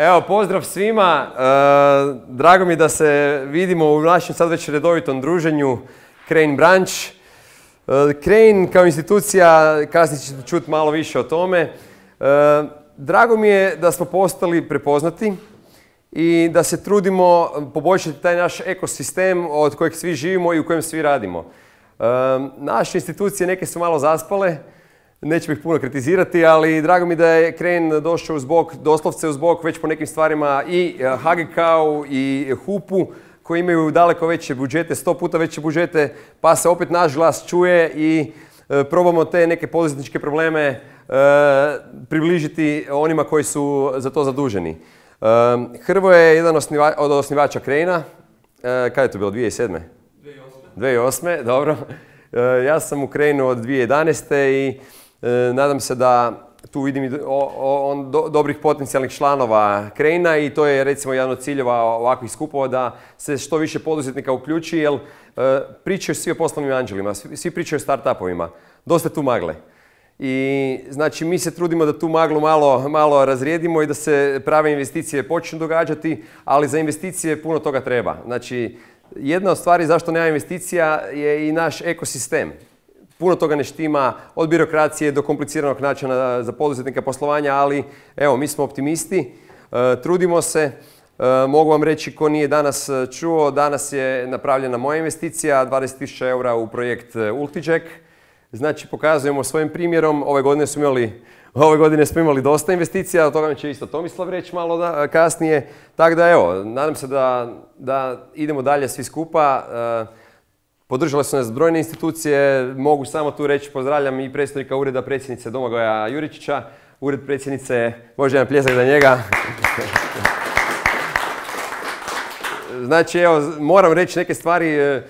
Evo, pozdrav svima. Drago mi je da se vidimo u našem sad već redovitom druženju Crane Branch. Crane kao institucija, kasnije ćete čuti malo više o tome. Drago mi je da smo postali prepoznati i da se trudimo poboljšati taj naš ekosistem od kojeg svi živimo i u kojem svi radimo. Naše institucije neke su malo zaspale, neću ih puno kritizirati, ali drago mi da je Crane došao uz bok, doslovce uz bok već po nekim stvarima i HGK-u i HUP-u koji imaju daleko veće budžete, 100 puta veće budžete, pa se opet naš glas čuje i probamo te neke poduzetničke probleme približiti onima koji su za to zaduženi. Hrvoje je jedan od osnivača Crane-a. Kada je to bilo? 2007. 2008. Dobro. Ja sam u Crane-u od 2011. i nadam se da tu vidim dobrih potencijalnih članova Crane-a i to je recimo jedan od ciljeva ovakvih skupova da se što više poduzetnika uključi jer pričaju svi o poslovnim anđelima, svi pričaju o start-upovima. Dosta tu magle. I znači mi se trudimo da tu maglu malo razrijedimo i da se prave investicije počnu događati, ali za investicije puno toga treba. Znači jedna od stvari zašto nema investicija je i naš ekosistem. Puno toga ne štima, od birokracije do kompliciranog načina za poduzetnika poslovanja, ali evo, mi smo optimisti, trudimo se. Mogu vam reći ko nije danas čuo, danas je napravljena moja investicija, 20.000 eura u projekt Ultijack. Znači, pokazujemo svojim primjerom, ove godine smo imali dosta investicija, od toga će isto Tomislav reći malo kasnije. Tako da evo, nadam se da idemo dalje svi skupa. Podržale su nas brojne institucije, mogu samo tu reći, pozdravljam i predstojnika ureda predsjednice Domagoja Juričića, ured predsjednice, može jedan pljesak za njega. Znači, evo, moram reći neke stvari.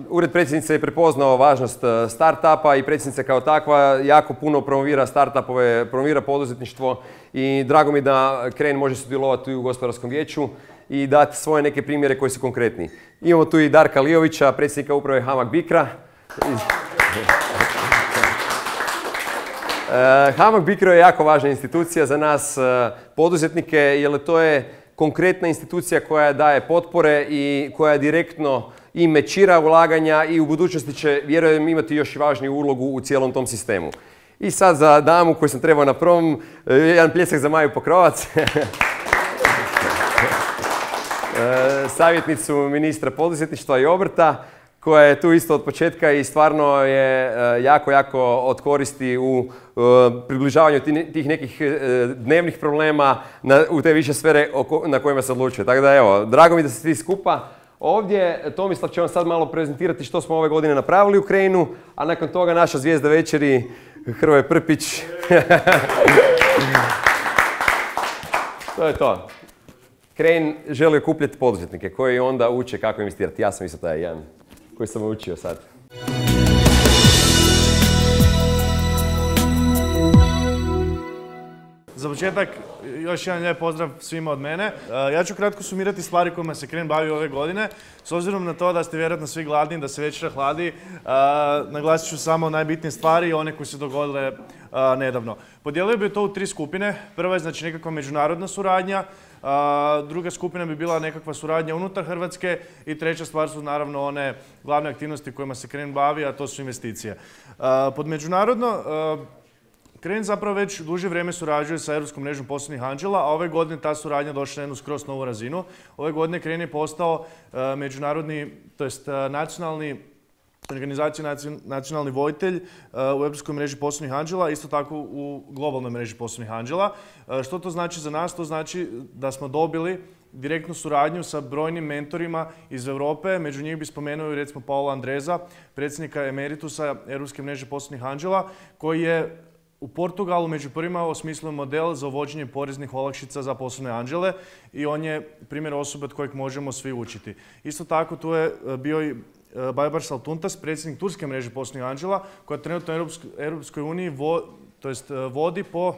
Ured predsjednice je prepoznao važnost start-upa i predsjednica kao takva jako puno promovira start-upove, promovira poduzetništvo i drago mi da Crane može sudjelovati u gospodarskom vijeću i dati svoje neke primjere koji su konkretni. Imamo tu i Darka Lijovića, predsjednika uprave HAMAG BICRO-a. HAMAG BICRO je jako važna institucija za nas poduzetnike jer to je konkretna institucija koja daje potpore i koja direktno i mečira ulaganja i u budućnosti će, vjerujem, imati još i važniju ulogu u cijelom tom sistemu. I sad za damu koju sam trebao na prvom, jedan pljesak za Maju Pokrovac. Savjetnicu ministra poduzetništva i obrta, koja je tu isto od početka i stvarno je jako od koristi u približavanju tih nekih dnevnih problema u te više sfere na kojima se odlučuje. Tako da evo, drago mi da ste svi skupa ovdje. Tomislav će vam sad malo prezentirati što smo ove godine napravili u Crane-u, a nakon toga naša zvijezda večeri, Hrvoje Prpić. To je to. Crane želi okupljati poduzetnike koji onda uče kako investirati. Ja sam isto taj jedan koji sam učio sad. Za početak, još jedan lijep pozdrav svima od mene. Ja ću kratko sumirati stvari kojima se Crane bavi ove godine. S obzirom na to da ste vjerojatno svi gladni, da se večera hladi, naglasit ću samo najbitnije stvari i one koje se dogodile nedavno. Podijelio bi to u 3 skupine. Prva je znači nekakva međunarodna suradnja, druga skupina bi bila nekakva suradnja unutar Hrvatske i treća stvar su naravno one glavne aktivnosti kojima se Crane bavi, a to su investicije. Pod međunarodno, Crane zapravo već duže vrijeme surađuje sa Europskom mrežom poslovnih anđela, a ove godine ta suradnja došla na jednu skroz novu razinu. Ove godine Crane je postao međunarodni, to jest nacionalni voditelj u Europskoj mreži poslovnih anđela, isto tako u globalnoj mreži poslovnih anđela. Što to znači za nas? To znači da smo dobili direktnu suradnju sa brojnim mentorima iz Europe. Među njih bi spomenuo recimo Paola Andreza, predsjednika emeritusa Europske mreže poslovnih anđela, koji je u Portugalu među prvima osmislio model za uvođenje poreznih olakšica za poslovne anđele i on je primjer osobe od kojeg možemo svi učiti. Isto tako tu je bio i Baybars Altuntas, predsjednik turske mreže poslovnih anđela, koja trenutno u Europskoj uniji vodi po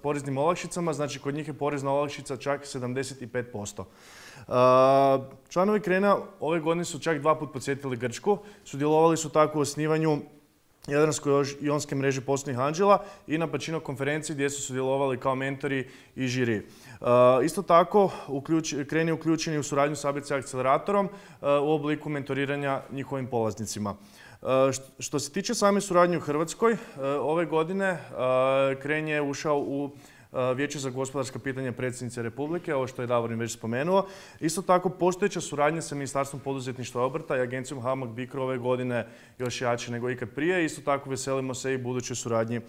poreznim olakšicama, znači kod njih je porezna olakšica čak 75%. Članovi Crane-a ove godine su čak 2 puta posjetili Grčku, sudjelovali su tako u osnivanju Jadransko-jonske mreže poslovnih anđela i na Pacino konferenciji gdje su sudjelovali kao mentori i žiri. Isto tako, Crane je uključen u suradnju s ABC akceleratorom u obliku mentoriranja njihovim polaznicima. Što se tiče same suradnje u Hrvatskoj, ove godine Crane je ušao u Vijeće za gospodarska pitanja predsjednice Republike, ovo što je Davorin već spomenuo. Isto tako, postojeća suradnja sa Ministarstvom poduzetništva i obrta i agencijom HAMAG BICRO ove godine još jače nego ikad prije. Isto tako, veselimo se i budućoj suradnji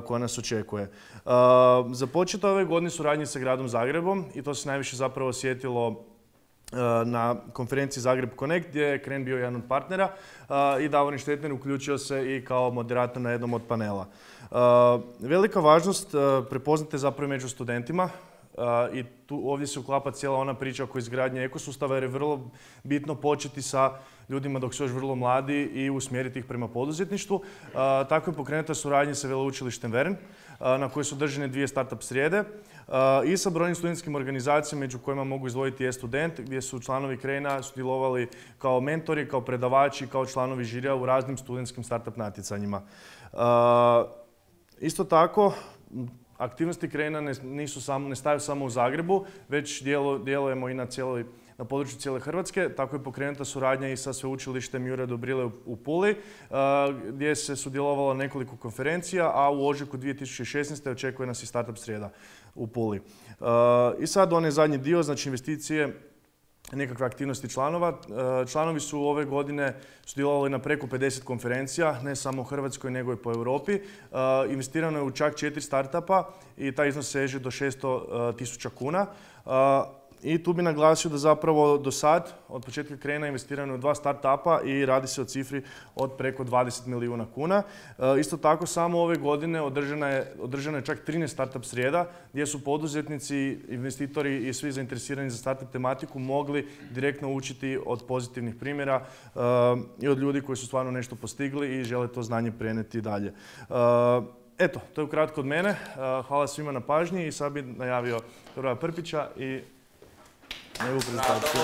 koja nas očekuje. Započeta ove godine suradnje sa Gradom Zagrebom i to se najviše zapravo osjetilo na konferenciji Zagreb Connect gdje je Crane bio jedan od partnera i Davorin Štetner uključio se i kao moderator na jednom od panela. Velika važnost prepoznate zapravo među studentima i ovdje se uklapa cijela ona priča oko izgradnje ekosustava jer je vrlo bitno početi sa ljudima dok su još vrlo mladi i usmjeriti ih prema poduzetništvu. Tako je pokrenuta suradnja sa Veleučilištem Vern na kojoj su održane 2 startup srijede i sa brojnim studentskim organizacijama među kojima mogu izdvojiti e-student gdje su članovi Crane-a sudjelovali kao mentori, kao predavači, kao članovi žirija u raznim studentskim startup natjecanjima. Isto tako, aktivnosti Crane-a ne staju samo u Zagrebu, već djelujemo i na području cijele Hrvatske. Tako je pokrenuta suradnja i sa sveučilištem Jure Dobrile u Puli, gdje se sudjelovalo nekoliko konferencija, a u ožujku 2016. očekuje nas i startup srijeda u Puli. I sad onaj zadnji dio, znači investicije, nekakve aktivnosti članova. Članovi su ove godine sudjelovali na preko 50 konferencija, ne samo u Hrvatskoj nego i po Europi. Investirano je u čak 4 startupa i taj iznos seže do 600.000 kuna. I tu bi naglasio da zapravo do sad, od početka Crane-a investirano je u 2 startupa i radi se o cifri od preko 20 milijuna kuna. Isto tako, samo ove godine održano je čak 13 startup srijeda gdje su poduzetnici, investitori i svi zainteresirani za startup tematiku mogli direktno učiti od pozitivnih primjera i od ljudi koji su stvarno nešto postigli i žele to znanje prenijeti dalje. Eto, to je ukratko od mene. Hvala svima na pažnji i sad bih najavio Hrvoja Prpića i njegovu prezentaciju.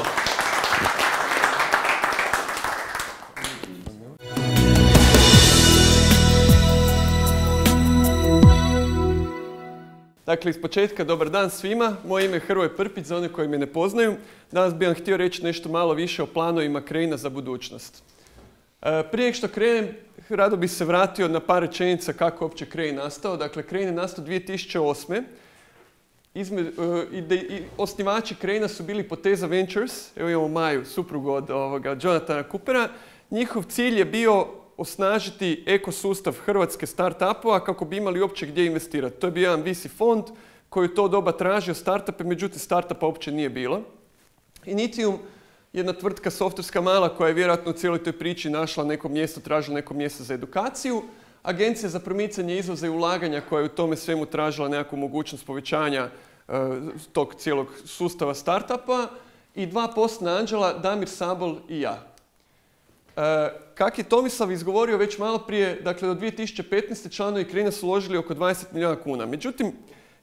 Dakle, iz početka dobar dan svima. Moje ime je Hrvoje Prpić, za one koji me ne poznaju. Danas bih vam htio reći nešto malo više o planovima Crane-a za budućnost. Prije što krenem, rado bih se vratio na par rečenica kako uopće Crane nastao. Dakle, Crane je nastao 2008. Osnivači Crane-a su bili Poteza Ventures, evo imamo Maju, suprugu od Jonathana Coopera. Njihov cilj je bio osnažiti ekosustav hrvatske start-upova kako bi imali uopće gdje investirati. To je bio jedan VC fond koji u to doba tražio start-upe, međutim start-upa uopće nije bilo. Initium, jedna tvrtka softverska mala koja je vjerojatno u cijeloj toj priči našla neko mjesto, tražila neko mjesto za edukaciju. Agencija za promicanje izvoza i ulaganja koja je u tome svemu tražila nekakvu mogućnost povećanja tog cijelog sustava startupa i 2 poslovna anđela, Damir Sabol i ja. Kak je Tomislav izgovorio već malo prije, dakle do 2015. članovi Crane-a su uložili oko 20 milijuna kuna. Međutim,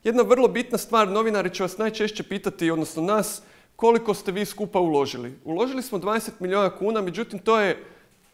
jedna vrlo bitna stvar, novinari će vas najčešće pitati, odnosno nas, koliko ste vi skupa uložili. Uložili smo 20 milijuna kuna, međutim to je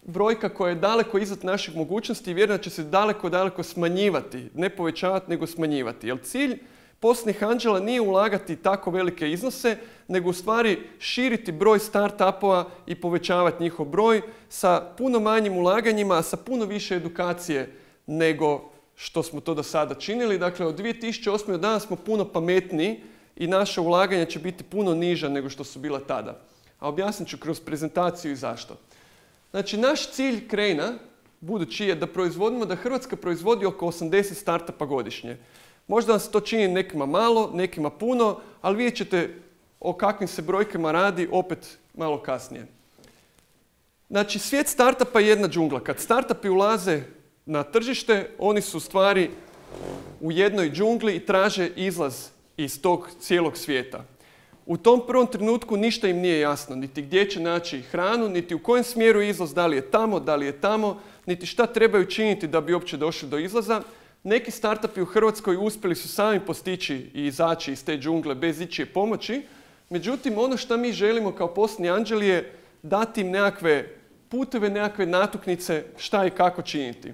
brojka koja je daleko iznad naših mogućnosti i vjerujem da će se daleko smanjivati. Ne povećavati, nego smanjivati. Jer cilj poslovnih anđela nije ulagati tako velike iznose, nego u stvari širiti broj start-upova i povećavati njihov broj sa puno manjim ulaganjima, a sa puno više edukacije nego što smo to do sada činili. Dakle, od 2008. do danas smo puno pametniji i naša ulaganja će biti puno niža nego što su bila tada. A objasnit ću kroz prezentaciju i zašto. Znači, naš cilj Crane-a, budući je da Hrvatska proizvodi oko 80 startupa godišnje. Možda vam se to čini nekima malo, nekima puno, ali vidjet ćete o kakvim se brojkama radi opet malo kasnije. Znači, svijet startupa je jedna džungla. Kad startupi ulaze na tržište, oni su u stvari u jednoj džungli i traže izlaz iz tog cijelog svijeta. U tom prvom trenutku ništa im nije jasno, niti gdje će naći hranu, niti u kojem smjeru je izlaz, da li je tamo, niti šta trebaju činiti da bi uopće došli do izlaza. Neki startupi u Hrvatskoj uspjeli su sami postići i izaći iz te džungle bez ičije pomoći. Međutim, ono što mi želimo kao poslovni anđeli je dati im nekakve puteve, nekakve natuknice šta i kako činiti.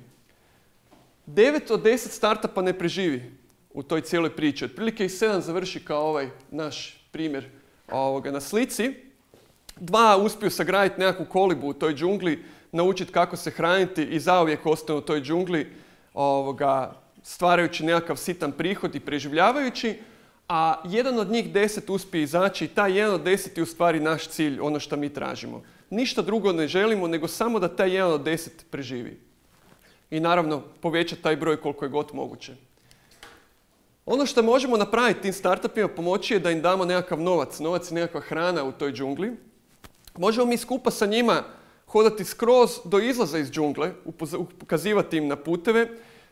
9 od 10 startupa ne preživi u toj cijeloj priči. Otprilike ih 7 završi kao ovaj naš primjer na slici. 2 uspiju sagraditi nekakvu kolibu u toj džungli, naučiti kako se hraniti i zauvijek ostanu u toj džungli stvarajući nekakav sitan prihod i preživljavajući, a jedan od njih 10 uspije izaći i taj jedan od 10 je u stvari naš cilj, ono što mi tražimo. Ništa drugo ne želimo, nego samo da taj jedan od 10 preživi. I naravno, povećati taj broj koliko je god moguće. Ono što možemo napraviti tim startupima pomoći je da im damo nekakav novac. Novac je nekakva hrana u toj džungli. Možemo mi skupa sa njima hodati skroz do izlaza iz džungle, ukazivati im na puteve,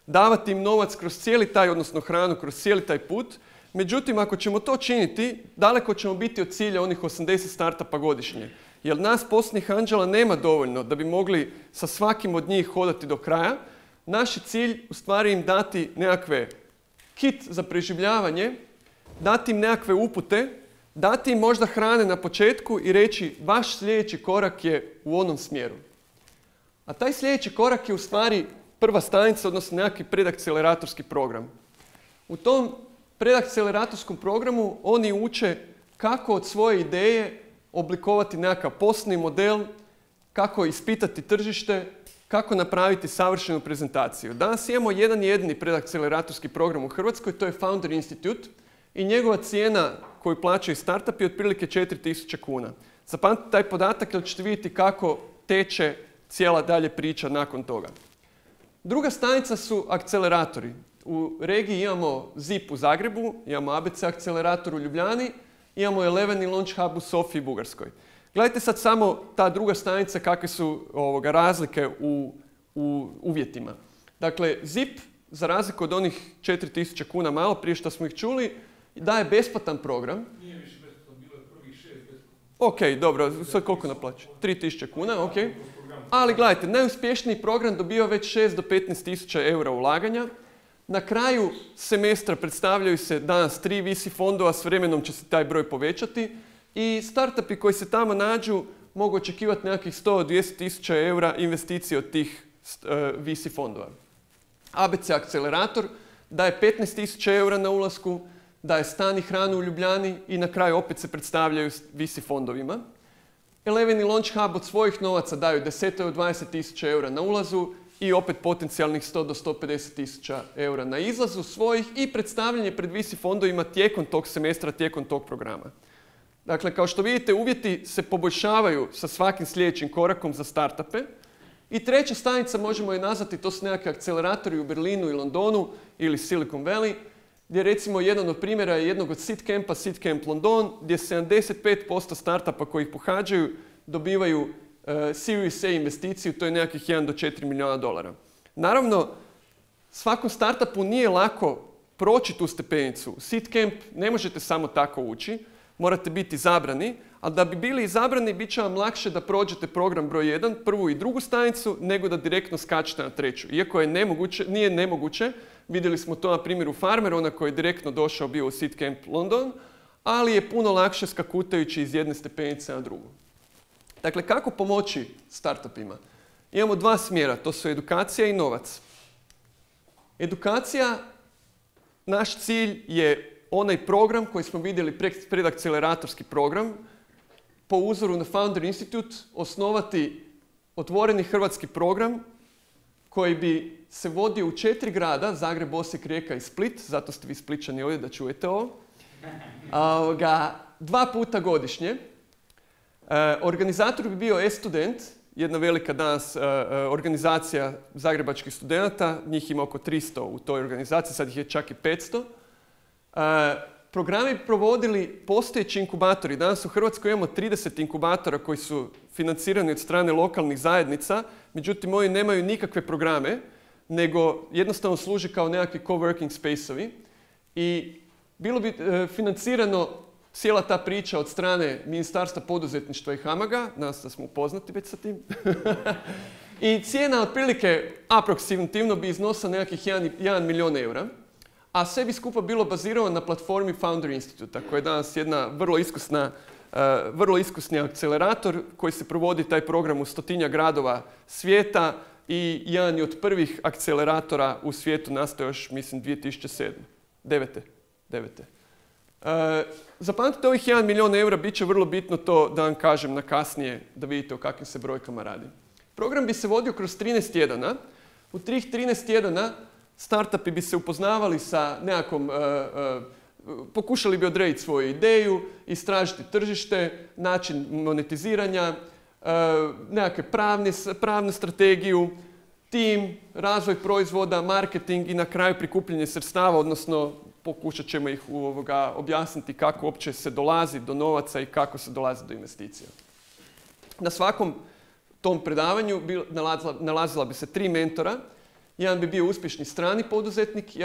davati im novac kroz cijeli taj, odnosno hranu kroz cijeli taj put. Međutim, ako ćemo to činiti, daleko ćemo biti od cilja onih 80 startupa godišnje. Jer nas posljednjih anđela nema dovoljno da bi mogli sa svakim od njih hodati do kraja. Naš je cilj u stvari im dati nekakve kit za preživljavanje, dati im nekakve upute, dati im možda hrane na početku i reći vaš sljedeći korak je u onom smjeru. A taj sljedeći korak je u stvari prva stanica, odnosno nekakvi predakceleratorski program. U tom predakceleratorskom programu oni uče kako od svoje ideje oblikovati nekakav poslovni model, kako ispitati tržište, kako napraviti savršenu prezentaciju. Danas imamo jedan jedini predakceleratorski program u Hrvatskoj, to je Founder Institute i njegova cijena koju plaćaju startupi je otprilike 4.000 kuna. Zapamtite taj podatak jer ćete vidjeti kako teče cijela dalje priča nakon toga. Druga stanica su akceleratori. U regiji imamo ZIP u Zagrebu, imamo ABC akcelerator u Ljubljani, imamo 11 Launch Hub u Sofiji, Bugarskoj. Gledajte sad samo ta druga stanica kakve su razlike u uvjetima. Dakle, ZIP, za razliku od onih 4.000 kuna malo prije što smo ih čuli, daje besplatan program. Nije više besplatan, bilo je prvih 6 besplatno. Ok, dobro, sad koliko naplaću? 3.000 kuna, ok. Ali gledajte, najuspješniji program dobiva već 6 do 15.000 eura ulaganja. Na kraju semestra predstavljaju se danas 3 VC fondova, s vremenom će se taj broj povećati i startupi koji se tamo nađu mogu očekivati nekakvih 100-200.000 eura investicije od tih VC fondova. ABC akcelerator daje 15.000 eura na ulasku, daje stan i hranu u Ljubljani i na kraju opet se predstavljaju VC fondovima. 11 Launch Hub od svojih novaca daju 10 do 20.000 eura na ulazu i opet potencijalnih 100 do 150.000 eura na izlazu svojih i predstavljanje pred VC fondovima tijekom tog semestra, tijekom tog programa. Dakle, kao što vidite, uvjeti se poboljšavaju sa svakim sljedećim korakom za startupe. I treća stanica možemo je nazvati, to su nekakvi akceleratori u Berlinu i Londonu ili Silicon Valley, gdje recimo jedan od primjera je jednog od Seed Campa, Seed Camp London, gdje 75% startupa koji ih pohađaju dobivaju Series A investiciju, to je nekakvih 1 do 4 milijuna dolara. Naravno, svakom startupu nije lako proći tu stepenicu. Seed Camp ne možete samo tako ući, morate biti izabrani, ali da bi bili izabrani bit će vam lakše da prođete program broj 1, prvu i drugu stanicu, nego da direktno skačete na treću. Iako je nije nemoguće, vidjeli smo to na primjeru Farmera, ona koji je direktno došao bio u Seed Camp London, ali je puno lakše skakutajući iz jedne stepenice na drugu. Dakle, kako pomoći startupima? Imamo 2 smjera, to su edukacija i novac. Edukacija, naš cilj je onaj program koji smo vidjeli, predakceleratorski program, po uzoru na Founder Institute, osnovati otvoreni hrvatski program koji bi se vodio u 4 grada, Zagreb, Osijek, Rijeka i Split, zato ste vi Spličani ovdje da čujete ovo, 2 puta godišnje. Organizator bi bio e-student, jedna velika danas organizacija zagrebačkih studenata, njih ima oko 300 u toj organizaciji, sad ih je čak i 500. Programi bi provodili postojeći inkubatori. Danas u Hrvatskoj imamo 30 inkubatora koji su financirani od strane lokalnih zajednica, međutim oni nemaju nikakve programe, nego jednostavno služi kao nekakvi coworking space-ovi. I bilo bi financirano cijela ta priča od strane Ministarstva poduzetništva i HAMAG-a, nas da smo upoznati već sa tim. I cijena otprilike aproksimativno bi iznosila nekakvih 1 milijun eura, a sve bi skupa bilo bazirano na platformi Founder Institute, koja je danas jedna vrlo iskusna vrlo iskusni akcelerator koji se provodi taj program u 100-tinjak gradova svijeta i jedan je od prvih akceleratora u svijetu nastao još, mislim, 2007. 9. Zapamtite ovih 1 milijun eura, bit će vrlo bitno to da vam kažem na kasnije da vidite o kakvim se brojkama radi. Program bi se vodio kroz 13 tjedana. U tih 13 tjedana startupi bi se upoznavali sa nekakvom, pokušali bi odrediti svoju ideju, istražiti tržište, način monetiziranja, nekakve pravnu strategiju, tim, razvoj proizvoda, marketing i na kraju prikupljanje sredstava, odnosno pokušat ćemo ih objasniti kako uopće se dolazi do novaca i kako se dolazi do investicija. Na svakom tom predavanju nalazila bi se 3 mentora. Jedan bi bio uspješni strani poduzetnik,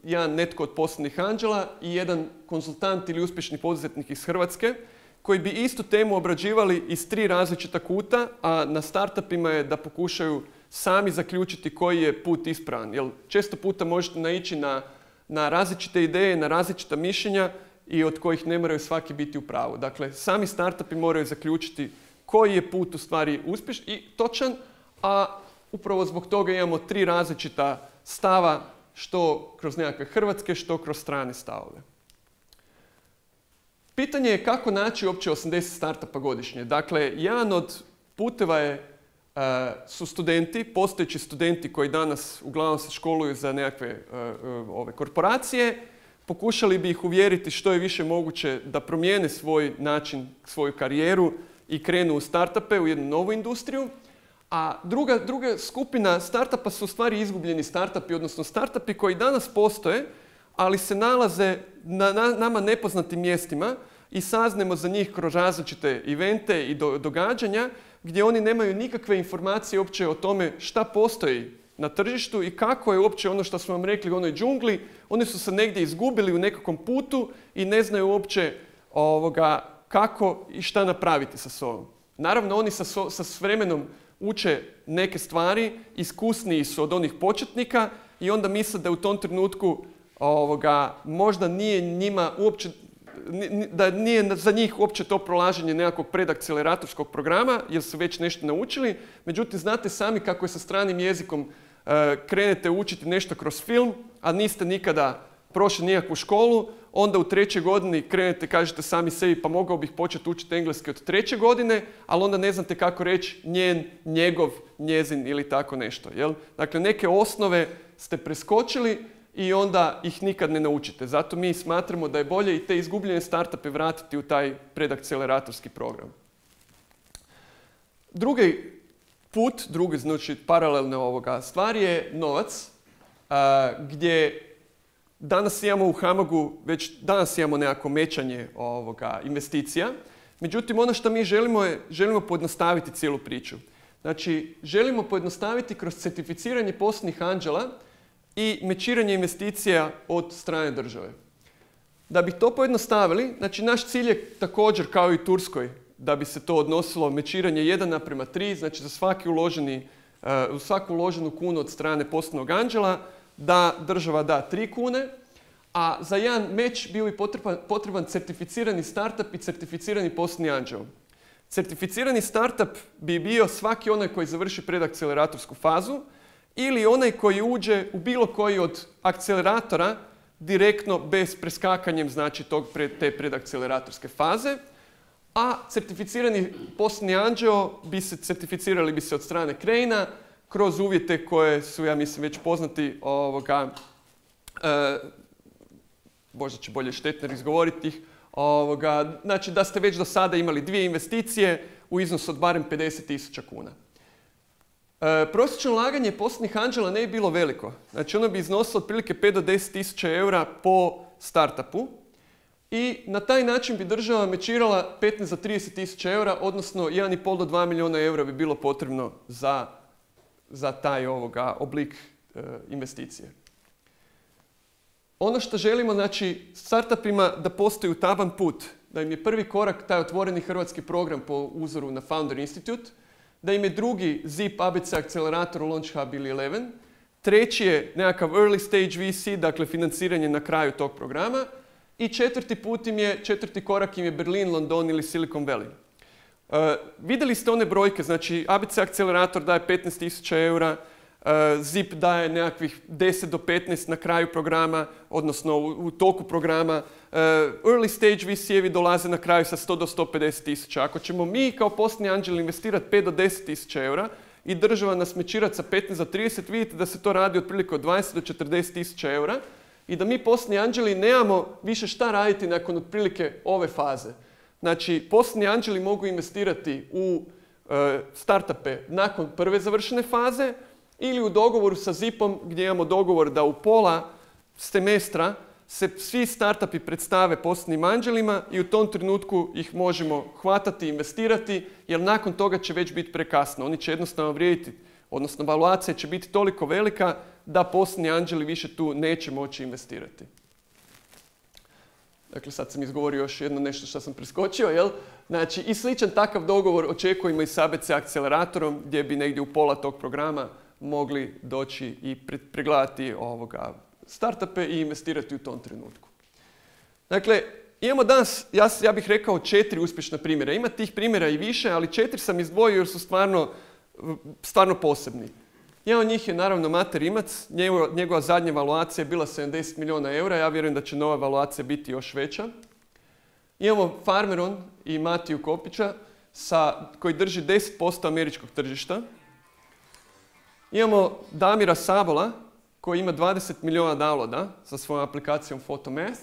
jedan netko od poslovnih anđela i jedan konzultant ili uspješni poduzetnik iz Hrvatske koji bi istu temu obrađivali iz 3 različita kuta, a na startupima je da pokušaju sami zaključiti koji je put ispravan. Jer često puta možete naići na različite ideje, na različita mišljenja i od kojih ne moraju svaki biti u pravu. Dakle, sami startupi moraju zaključiti koji je put u stvari uspješan i točan, a upravo zbog toga imamo 3 različita stava, što kroz nekakve hrvatske, što kroz strane stavove. Pitanje je kako naći uopće 80 startupa godišnje. Dakle, jedan od puteva su studenti, postojeći studenti koji danas uglavnom se školuju za nekakve korporacije. Pokušali bi ih uvjeriti što je više moguće da promijene svoj način, svoju karijeru i krenu u startupe, u jednu novu industriju. A druga skupina startupa su u stvari izgubljeni startupi, odnosno startupi koji danas postoje, ali se nalaze na nama nepoznatim mjestima i saznemo za njih kroz različite evente i događanja gdje oni nemaju nikakve informacije uopće o tome šta postoji na tržištu i kako je uopće ono što smo vam rekli u onoj džungli. Oni su se negdje izgubili u nekakvom putu i ne znaju uopće kako i šta napraviti sa sobom. Naravno, oni s vremenom uče neke stvari, iskusniji su od onih početnika i onda misle da u tom trenutku možda nije njima uopće, da nije za njih uopće to prolaženje nekakvog predakceleratorskog programa jer su već nešto naučili. Međutim, znate sami kako je sa stranim jezikom krenete učiti nešto kroz film, a niste nikada prošli nikakvu školu, onda u 3. godini krenete, kažete sami sebi pa mogao bih početi učiti engleski od 3. godine, ali onda ne znate kako reći njen, njegov, njezin ili tako nešto. Jel? Dakle, neke osnove ste preskočili i onda ih nikad ne naučite. Zato mi smatramo da je bolje i te izgubljene startupe vratiti u taj predakceleratorski program. Drugi put, znači paralelna stvar je novac, gdje danas imamo u HAMAG-u, već danas imamo nekako mećanje investicija. Međutim, ono što mi želimo pojednostaviti cijelu priču. Znači, želimo pojednostaviti kroz certificiranje poslovnih anđela i mečiranje investicija od strane države. Da bi to pojednostavili, znači naš cilj je također kao i Turskoj, da bi se to odnosilo mečiranje 1:3, znači za svaku uloženu kunu od strane poslovnog anđela, da država da 3 kune, a za jedan meč bio bi potreban certificirani startup i certificirani poslovni anđel. Certificirani startup bi bio svaki onaj koji završi predakceleratorsku fazu ili onaj koji uđe u bilo koji od akceleratora direktno bez preskakanjem, znači te predakceleratorske faze, a certificirani poslovni anđeo certificirali bi se od strane Crane-a kroz uvjete koje su, ja mislim, već poznati, možda će bolje Štetner izgovoriti ih, znači da ste već do sada imali 2 investicije u iznosu od barem 50.000 kuna. Prosječno ulaganje poslovnih anđela ne bi bilo veliko. Znači ono bi iznosilo otprilike 5 do 10.000 eura po startupu i na taj način bi država mečirala 15 do 30.000 eura, odnosno 1,5 do 2 milijuna eura bi bilo potrebno za taj oblik investicije. Ono što želimo, znači, startupima da postoji utaban put, da im je prvi korak taj otvoreni hrvatski program po uzoru na Founder Institute, da im je drugi ZIP ABC akcelerator u Launch Hub ili 11, treći je nekakav early stage VC, dakle financiranje na kraju tog programa I četvrti korak im je Berlin, London ili Silicon Valley. Vidjeli ste one brojke, znači ABC akcelerator daje 15.000 eura, ZIP daje nekakvih 10 do 15 na kraju programa, odnosno u toku programa. Early stage VC-evi dolaze na kraju sa 100 do 150 tisuća. Ako ćemo mi kao poslovni anđeli investirati 5 do 10 tisuća eura i država nas mečirati sa 15 do 30, vidite da se to radi otprilike od 20 do 40 tisuća eura i da mi poslovni anđeli nemamo više šta raditi nakon otprilike ove faze. Znači, poslovni anđeli mogu investirati u startupe nakon prve završene faze ili u dogovoru sa ZIP-om gdje imamo dogovor da u pola semestra se svi startupi predstave poslovnim anđelima i u tom trenutku ih možemo hvatati i investirati jer nakon toga će već biti prekasno. Oni će jednostavno vrijediti, odnosno valuacija će biti toliko velika da poslovni anđeli više tu neće moći investirati. Dakle, sad sam izgovorio još jedno nešto što sam preskočio, jel? Znači, i sličan takav dogovor očekujemo i s ABC akceleratorom gdje bi negdje u pola tog programa mogli doći i pregledati startupe i investirati u tom trenutku. Dakle, imamo danas, ja bih rekao 4 uspješna primjera. Ima tih primjera i više, ali 4 sam izdvojio jer su stvarno posebni. Jedan od njih je naravno Mate Rimac, njegova zadnja valuacija je bila 70 milijuna eura, ja vjerujem da će nova valuacija biti još veća. Imamo Farmeron i Matiju Kopića koji drži 10% američkog tržišta. Imamo Damira Sabola koji ima 20 milijuna downloada sa svojom aplikacijom Photomath.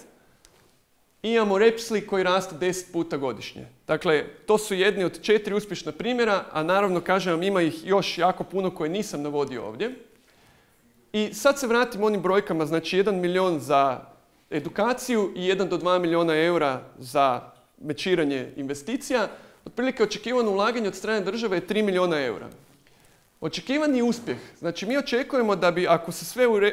I imamo Repsly koji raste 10 puta godišnje. Dakle, to su jedni od 4 uspješna primjera, a naravno, kažem vam, ima ih još jako puno koje nisam navodio ovdje. I sad se vratim onim brojkama, znači 1 milijun za edukaciju i 1 do 2 milijuna eura za mečiranje investicija. Otprilike očekivano ulaganje od strane države je 3 milijuna eura. Očekivani uspjeh, znači mi očekujemo da bi,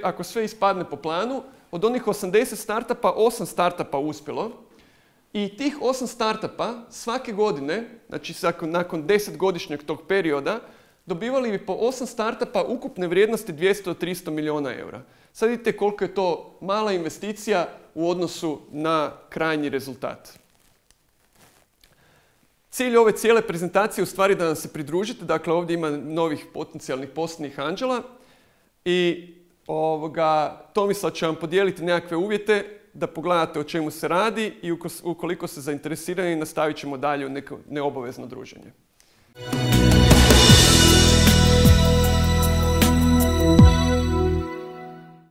ako sve ispadne po planu, od onih 80 startupa, 8 startupa uspjelo i tih 8 startupa svake godine, znači nakon 10-godišnjeg tog perioda, dobivali bi po 8 startupa ukupne vrijednosti 200 do 300 milijuna eura. Sad vidite koliko je to mala investicija u odnosu na krajnji rezultat. Cilj ove cijele prezentacije je u stvari da nam se pridružite, dakle ovdje ima novih potencijalnih poslovnih anđela i Tomislav će vam podijeliti nekakve uvjete da pogledate o čemu se radi i ukoliko ste zainteresirani nastavit ćemo dalje u neko neobavezno druženje.